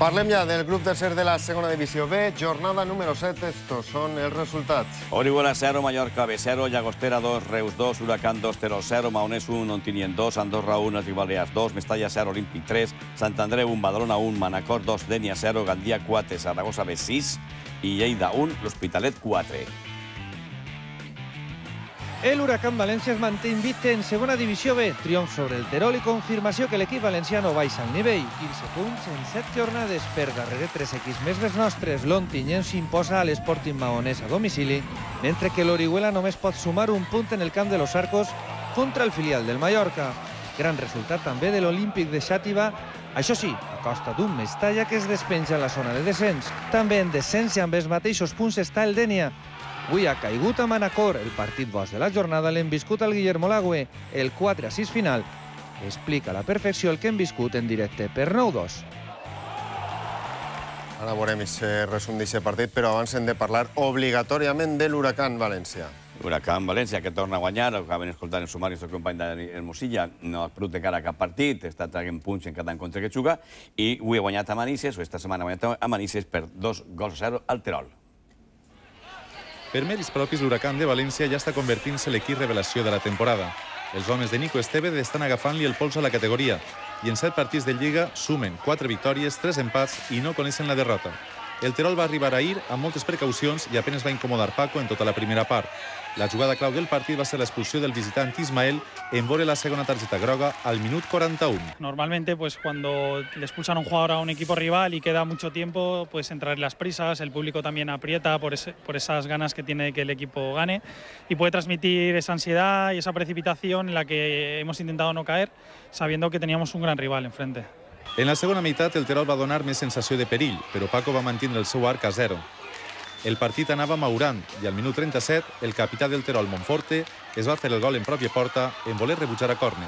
Parlem ja del grup tercer de la segona divisió B, jornada número 7, estos són els resultats. Orihuela 0, Mallorca B 0, Llagostera 2, Reus 2, Huracán 2, Terol 0, Maonés 1, Ontinyent 2, Andorra 1, Balears 2, Mestalla 0, Olímpic 3, Sant Andreu 1, Badalona 1, Manacor 2, Denia 0, Gandia 4, Saragossa B 6 i Lleida 1, l'Hospitalet 4. El Huracán València es manté invicte en segona divisió B, triomf sobre el Terol i confirmació que l'equip valenciano baixa el nivell. 15 punts en 7 jornades per darrere 3 equips més dels nostres. L'Ontinyent s'imposa a l'Sporting Maonès a domicili, mentre que l'Orihuela només pot sumar un punt en el camp de los Arcos contra el filial del Mallorca. Gran resultat també de l'Olímpic de Xàtiva, això sí, a costa d'un Mestalla que es despenja en la zona de descens. També en descens i amb els mateixos punts està el Denia. Avui ha caigut a Manacor. El partit boig de la jornada l'hem viscut al Guillermo Lagüe. El 4-6 final explica a la perfecció el que hem viscut en directe per 9-2. Ara veurem aquest resum d'aquest partit, però abans hem de parlar obligatòriament de l'Huracán València. Huracán València, que torna a guanyar, ho acaben escoltant el sumari del company d'Hermosilla, no ha perdut de cara a cap partit, està traient punts en cada encontre que juga, i avui ha guanyat a Manises, o esta setmana ha guanyat a Manises per 2-0 al Terol. Per mèrits propis, l'Huracán de València ja està convertint-se l'equip revelació de la temporada. Els homes de Nico Estevez estan agafant-li el pols a la categoria i en 7 partits de Lliga sumen 4 victòries, 3 empats i no coneixen la derrota. El Terol va arribar ahir amb moltes precaucions i apenas va incomodar Paco en tota la primera part. La jugada clau del partit va ser l'expulsió del visitant Ismael en veure la segona tarjeta groga al minut 41. Normalmente, pues cuando le expulsan a un jugador a un equipo rival y queda mucho tiempo, pues entrar las prisas, el público también aprieta por esas ganas que tiene que el equipo gane y puede transmitir esa ansiedad y esa precipitación en la que hemos intentado no caer, sabiendo que teníamos un gran rival enfrente. En la segona meitat, el Terol va donar més sensació de perill, però Paco va mantenir el seu arc a 0. El partit anava maurant i al minut 37 el capità del Terol, Monforte, es va fer el gol en pròpia porta en voler rebutjar a córner.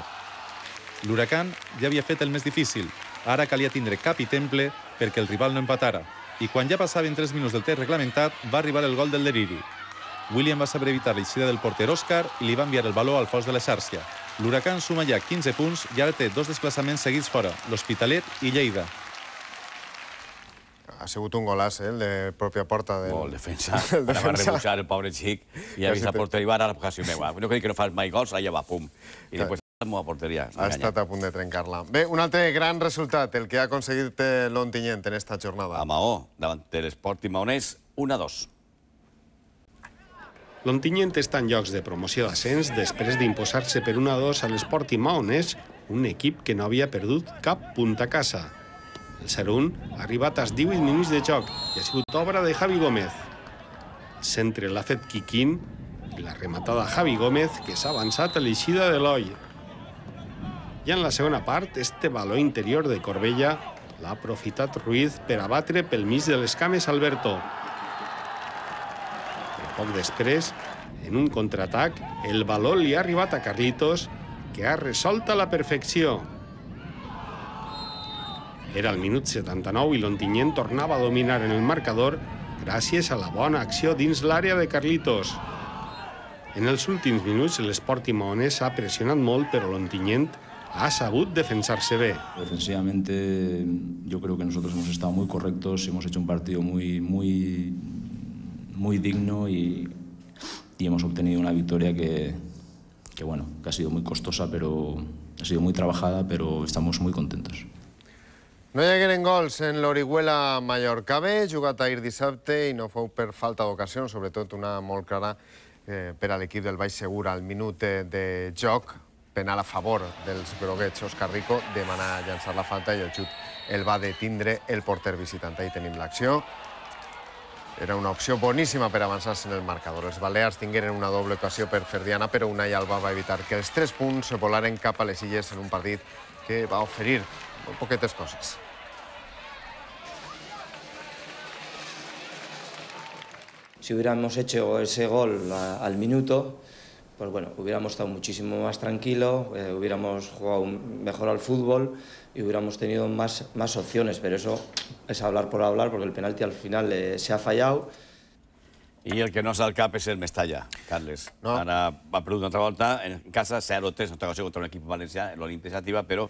L'Huracán ja havia fet el més difícil. Ara calia tindre cap i temple perquè el rival no empatara. I quan ja passaven 3 minuts del temps reglamentat, va arribar el gol del deliri. William va saber evitar l'eixida del porter Òscar i li va enviar el baló al fons de la xarxa. L'Huracán suma ja 15 punts i ara té 2 desplaçaments seguits fora, l'Hospitalet i Lleida. Ha sigut un golaç, el de pròpia porta. El defensa. Ara va rebutjar el pobre xic i ha vist la porteria i va anar a la vocació meva. No crec que no fas mai gols, allà va, pum. I després la meva porteria. Ha estat a punt de trencar-la. Bé, un altre gran resultat, el que ha aconseguit l'Ontinyent en esta jornada. A Maó, davant de l'Sporting Maonès, 1-2. L'Ontinyent està en llocs de promoció d'ascens després d'imposar-se per 1-2 a l'Sporting Maonès, un equip que no havia perdut cap punt a casa. El 0-1 ha arribat als 18 minuts de joc i ha sigut obra de Javi Gómez. El centre l'ha fet Quiquín i la rematada Javi Gómez, que s'ha avançat a l'eixida de l'Oi. I en la segona part, este baló interior de Corbella l'ha aprofitat Ruiz per abatre pel mig de les cames Alberto. Poc després, en un contraatac, el baló li ha arribat a Carlitos, que ha resolt a la perfecció. Era el minut 79 i l'Ontinyent tornava a dominar en el marcador gràcies a la bona acció dins l'àrea de Carlitos. En els últims minuts, l'Sporting Maonès ha pressionat molt, però l'Ontinyent ha sabut defensar-se bé. Defensivamente, yo creo que nosotros hemos estado muy correctos, hemos hecho un partido muy digno y hemos obtenido una victoria que ha sido muy costosa, pero ha sido muy trabajada, pero estamos muy contentos. No hi hagueren gols en l'Orihuela Mallorca B, jugat ahir dissabte i no fou per falta d'ocasió, sobretot una molt clara per a l'equip del Baix Segur al minut de joc, penal a favor dels groguets. Òscar Rico demana llançar la falta i el xut el va detindre el porter visitant. Ahí tenim l'acció. Era una opció boníssima per avançar-se en el marcador. Els balears tingueren una doble ocasió per Ferdiana, però Unai Alba va evitar que els 3 punts volaren cap a les Illes en un partit que va oferir molt poquetes coses. Si hubiéramos hecho ese gol al minuto, pues bueno, hubiéramos estado muchísimo más tranquilos, hubiéramos jugado mejor al fútbol y hubiéramos tenido más opciones, pero eso es hablar por hablar, porque el penalti al final se ha fallado. I el que no s'ha al cap és el Mestalla, Carles. Ara va perdut una altra volta, en casa 0-3, una ocasió contra un equip valencià, l'Olímpic Xàtiva, però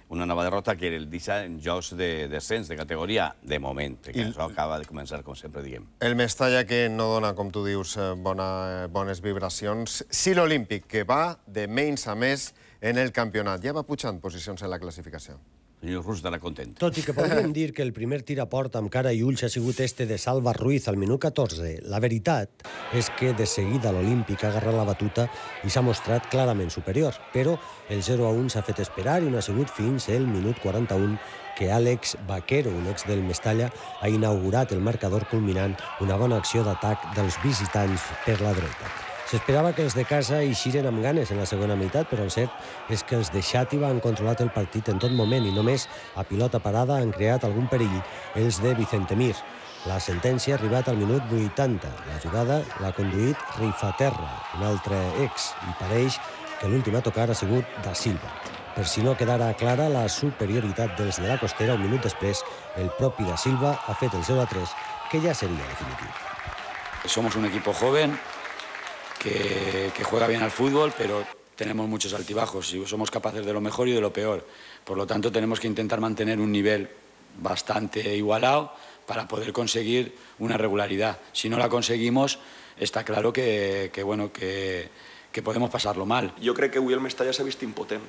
una nova derrota que el deixa en jocs de descens, de categoria, de moment, que això acaba de començar, com sempre diem. El Mestalla que no dona, com tu dius, bones vibracions. Sí, l'Olímpic, que va de menys a més en el campionat. Ja va pujant posicions en la classificació. El senyor Rus estarà content. Tot i que podríem dir que el primer tir a porta amb cara i ulls ha sigut este de Salva Ruiz al minut 14, la veritat és que de seguida l'Olímpic ha agarrat la batuta i s'ha mostrat clarament superior, però el 0-1 s'ha fet esperar i no ha sigut fins el minut 41 que Àlex Vaquero, un ex del Mestalla, ha inaugurat el marcador culminant una bona acció d'atac dels visitants per la dreta. S'esperava que els de casa eixiren amb ganes en la segona meitat, però el cert és que els de Xàtiva han controlat el partit en tot moment i només a pilota parada han creat algun perill els de Vicente Mir. La sentència ha arribat al minut 80. La jugada l'ha conduït Rifaterra, un altre ex, i pareix que l'últim a tocar ha sigut Da Silva. Per si no quedara clara la superioritat dels de la Costera, un minut després, el propi Da Silva ha fet el 0-3, que ja seria definitiu. Somos un equipo joven que juega bien al fútbol, pero tenemos muchos altibajos y somos capaces de lo mejor y de lo peor. Por lo tanto, tenemos que intentar mantener un nivel bastante igualado para poder conseguir una regularidad. Si no la conseguimos, está claro que podemos pasarlo mal. Jo crec que avui el Mestalla s'ha vist impotent.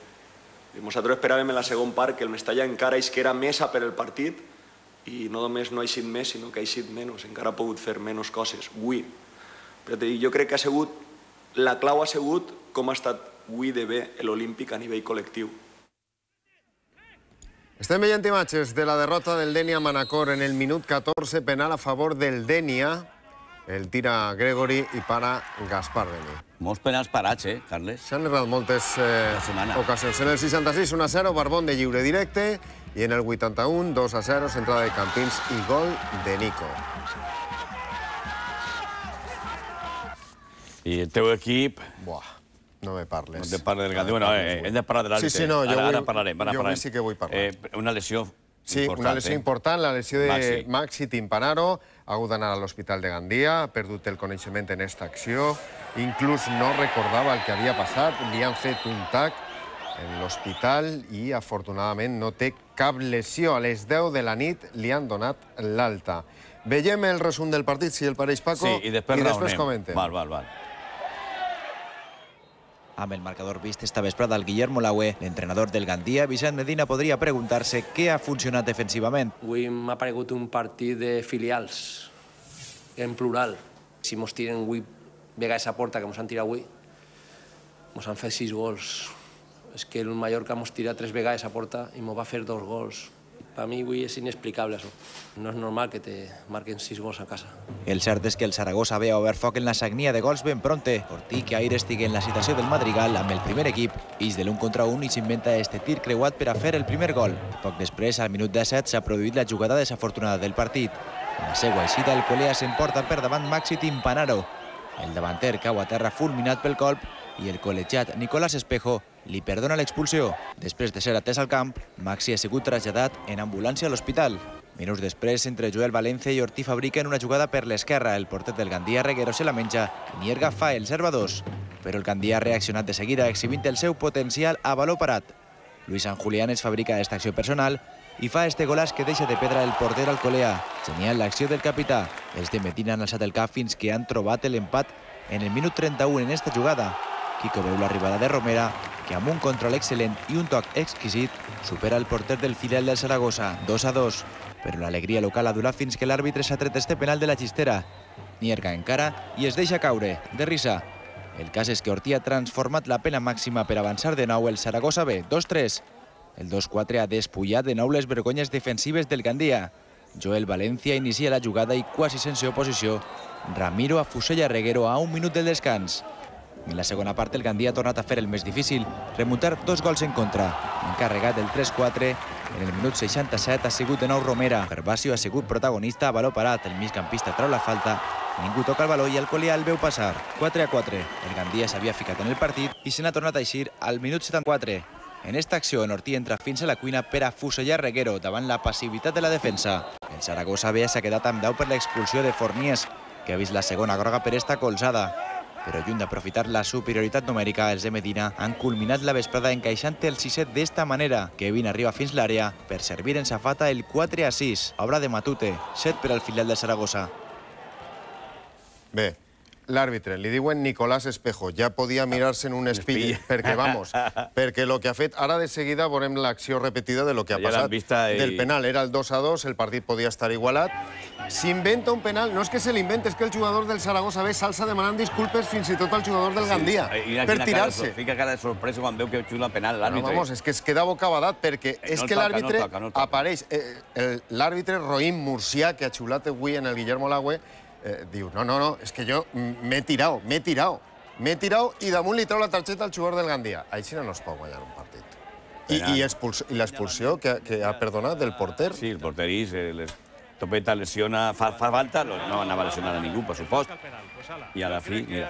Nosaltres esperàvem en la segon part que el Mestalla encara isquera més per el partit i no només no ha eixit més, sinó que ha eixit menys, encara ha pogut fer menys coses. Avui. Jo crec que ha sigut, la clau ha sigut com ha estat avui de bé l'Olímpic a nivell col·lectiu. Estem veient imatges de la derrota del Denia Manacor en el minut 14, penal a favor del Denia. El tira Gregory i para Gaspar Beni. Molts penals parats, Carles? S'han errat moltes ocasions. En el 66, 1-0, Barbón de lliure directe, i en el 81, 2-0, centrada de Campins i gol de Nico. I el teu equip... Buah, no me parles. No te parles del Gandhi. Bueno, hem de parlar de l'àrbitre. Sí, no, ara parlarem. Jo avui sí que vull parlar. Una lesió important. Sí, una lesió important, la lesió de Maxi Timpanaro. Ha hagut d'anar a l'Hospital de Gandia, ha perdut el coneixement en aquesta acció. Inclús no recordava el que havia passat. Li han fet un tac en l'hospital i, afortunadament, no té cap lesió. A les 10 de la nit li han donat l'alta. Veiem el resum del partit, si el pareix, Paco, i després comentem. Val. Amb el marcador vist esta vesprada al Guillermo Laue, l'entrenador del Gandia, Vicent Medina, podria preguntar-se què ha funcionat defensivament. Avui m'ha paregut un partit de filials, en plural. Si mos tiren avui vegades a porta, que mos han tirat avui, mos han fet 6 gols. És que el Mallorca mos tira 3 vegades a porta i mos va fer 2 gols. Per mi avui és inexplicable, això. No és normal que te marquen 6 gols a casa. El cert és que el Saragossa ve a obert foc en la sagnia de gols ben pronte. Ortí, que ahir estigui en la situació del Madrigal amb el primer equip, ix de l'1 contra 1 i s'inventa este tir creuat per a fer el primer gol. Poc després, al minut 17, s'ha produït la jugada desafortunada del partit. En la seva eixida, el Colea s'emporta per davant Maxi Timpanaro. El davanter cau a terra fulminat pel colp i el col·legiat Nicolás Espejo li perdona l'expulsió. Després de ser atès al camp, Maxi ha sigut traslladat en ambulància a l'hospital. Minuts després, entre Joel Valencia i Ortí fabriquen una jugada per l'esquerra. El porter del Gandia, Reguero, se la menja i Nierga fa el 0-2. Però el Gandia ha reaccionat de seguida, exhibint el seu potencial a baló parat. Luis San Julián es fabrica aquesta acció personal i fa este golaç que deixa de pedra el porter Alcolea. Genial l'acció del capità. Els de Medina han alçat el cap fins que han trobat l'empat en el minut 31 en esta jugada. Quico veu l'arribada de Romera, que amb un control excel·lent i un toc exquisit supera el porter del filial del Saragossa, 2-2. Però l'alegria local ha durat fins que l'àrbitre s'ha tret este penal de la xistera. Nierga encara i es deixa caure, de risa. El cas és que Ortí ha transformat la pena màxima per avançar de nou el Saragossa B, 2-3. El 2-4 ha despullat de nou les vergonyes defensives del Gandia. Joel Valencia inicia la jugada i quasi sense oposició, Ramiro afusella Reguero a un minut del descans. En la segona part, el Gandia ha tornat a fer el més difícil, remuntar 2 gols en contra. Encarregat del 3-4, en el minut 67 ha sigut de nou Romera. Gervasio ha sigut protagonista a baló parat. El migcampista trau la falta, ningú toca el baló i el Colea el veu passar. 4-4. El Gandia s'havia ficat en el partit i se n'ha tornat a eixir al minut 74. En esta acció, en Ortí entra fins a la cuina per a fusellar Reguero davant la passivitat de la defensa. El Saragossa B s'ha quedat amb 10 per l'expulsió de Fornies, que ha vist la segona groga per esta colzada. però lluny d'aprofitar la superioritat numèrica, els de Medina han culminat la vesprada encaixant el 6-7 d'esta manera. Kevin arriba fins l'àrea per servir en safata el 4-6, obra de Matute, 7 per al filial de Saragossa. Bé, l'àrbitre, li diuen Nicolás Espejo, ja podia mirar-se en un espill, perquè, vamos, perquè el que ha fet, ara de seguida veurem l'acció repetida de lo que ha passat. Del penal, era el 2-2, el partit podia estar igualat. S'inventa un penal, no és que se l'inventa, és que el jugador del Saragossa ve s'alça demanant disculpes fins i tot al jugador del Gandia, per tirar-se. Fica cara de sorpresa quan veu que xuta el penal l'àrbitre. Vamos, és que es queda bocabadat, perquè és que l'àrbitre apareix. L'àrbitre Roïm Murcià, que ha xulat avui en el Guillermo Lagüe, diu, no, és que jo m'he tirat i damunt li treu la targeta al jugador del Gandia. Així no es pot guanyar un partit. I l'expulsió que ha perdonat del porter? Sí, el porterís, Topeta lesiona, fa falta, no anava a lesionar a ningú, per supost, i a la fi, mira.